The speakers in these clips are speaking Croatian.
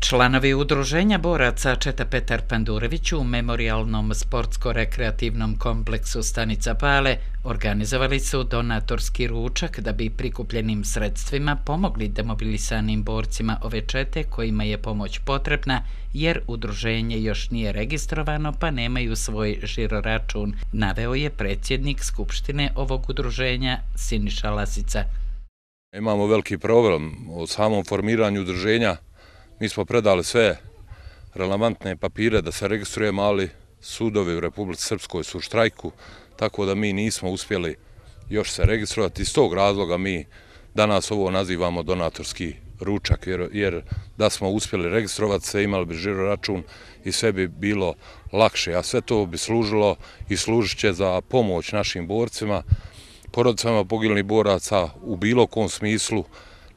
Članovi udruženja boraca Četa Petar Pandurević u memorijalnom sportsko-rekreativnom kompleksu Stanica Pale organizovali su donatorski ručak da bi prikupljenim sredstvima pomogli demobilisanim borcima ove čete kojima je pomoć potrebna jer udruženje još nije registrovano pa nemaju svoj žiroračun, naveo je predsjednik skupštine ovog udruženja Siniša Lasica. Imamo veliki problem o samom formiranju udruženja. Mi smo predali sve relevantne papire da se registrujemo, ali sudovi u Republici Srpskoj su u štrajku, tako da mi nismo uspjeli još se registrovati. Iz tog razloga mi danas ovo nazivamo donatorski ručak, jer da smo uspjeli registrovati se, imali bi žiroračun i sve bi bilo lakše, a sve to bi služilo i služit će za pomoć našim borcima, porodicama poginulih boraca u bilo kom smislu,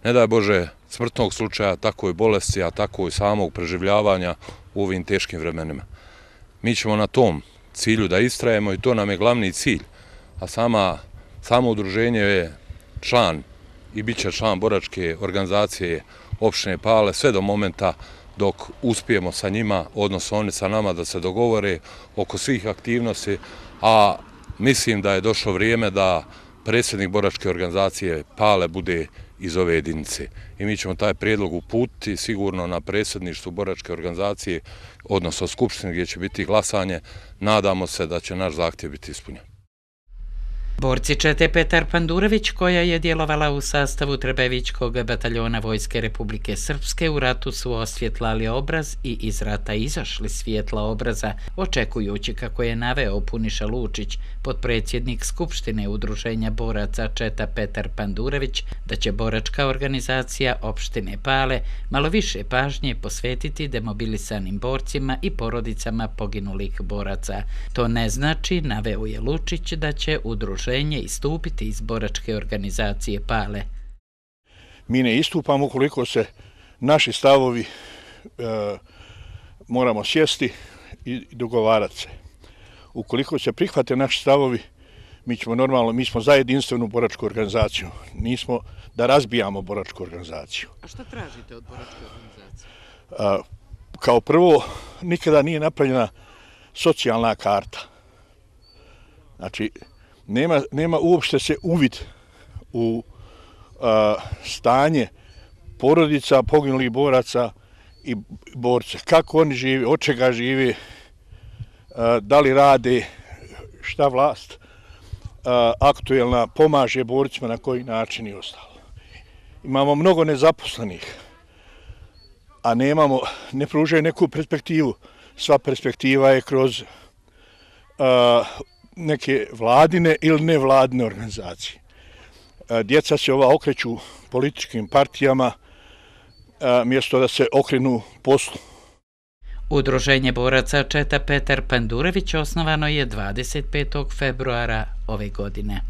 ne daj Bože smrtnog slučaja, tako i bolesti, a tako i samog preživljavanja u ovim teškim vremenima. Mi ćemo na tom cilju da istrajemo i to nam je glavni cilj, a samo udruženje je član i bit će član boračke organizacije opštine Pale sve do momenta dok uspijemo sa njima, odnosno oni sa nama da se dogovore oko svih aktivnosti, a mislim da je došlo vrijeme da predsjednik boračke organizacije Pale bude iz ove jedinice. I mi ćemo taj prijedlog uputiti sigurno na predsjedništvu boračke organizacije, odnosno skupštine gdje će biti glasanje. Nadamo se da će naš zahtjev biti ispunjen. Borci Čete Petar Pandurević, koja je djelovala u sastavu Trebevićkog bataljona Vojske Republike Srpske, u ratu su osvjetlali obraz i iz rata izašli svjetla obraza, očekujući, kako je naveo Puniša Lučić, potpredsjednik Skupštine udruženja boraca Četa Petar Pandurević, da će boračka organizacija opštine Pale malo više pažnje posvetiti demobilisanim borcima i porodicama poginulih boraca. To ne znači, naveo je Lučić, da će udruženje istupiti iz boračke organizacije Pale. Mi ne istupamo ukoliko se naši stavovi moramo sjesti i dogovarati se. Ukoliko se prihvate naši stavovi, mi smo za jedinstvenu boračku organizaciju. Nismo da razbijamo boračku organizaciju. A šta tražite od boračke organizacije? Kao prvo, nikada nije napravljena socijalna karta. Znači, nema uopšte se uvid u stanje porodica, poginulih boraca i borca. Kako oni žive, od čega žive, da li rade, šta vlast aktuelna pomaže borcima, na koji način i ostalo. Imamo mnogo nezaposlenih, a ne pružaju neku perspektivu. Sva perspektiva je kroz neke vladine ili nevladine organizacije. Djeca se okreću političkim partijama mjesto da se okrenu poslu. Udruženje boraca Četa Petar Pandurević osnovano je 25. februara ove godine.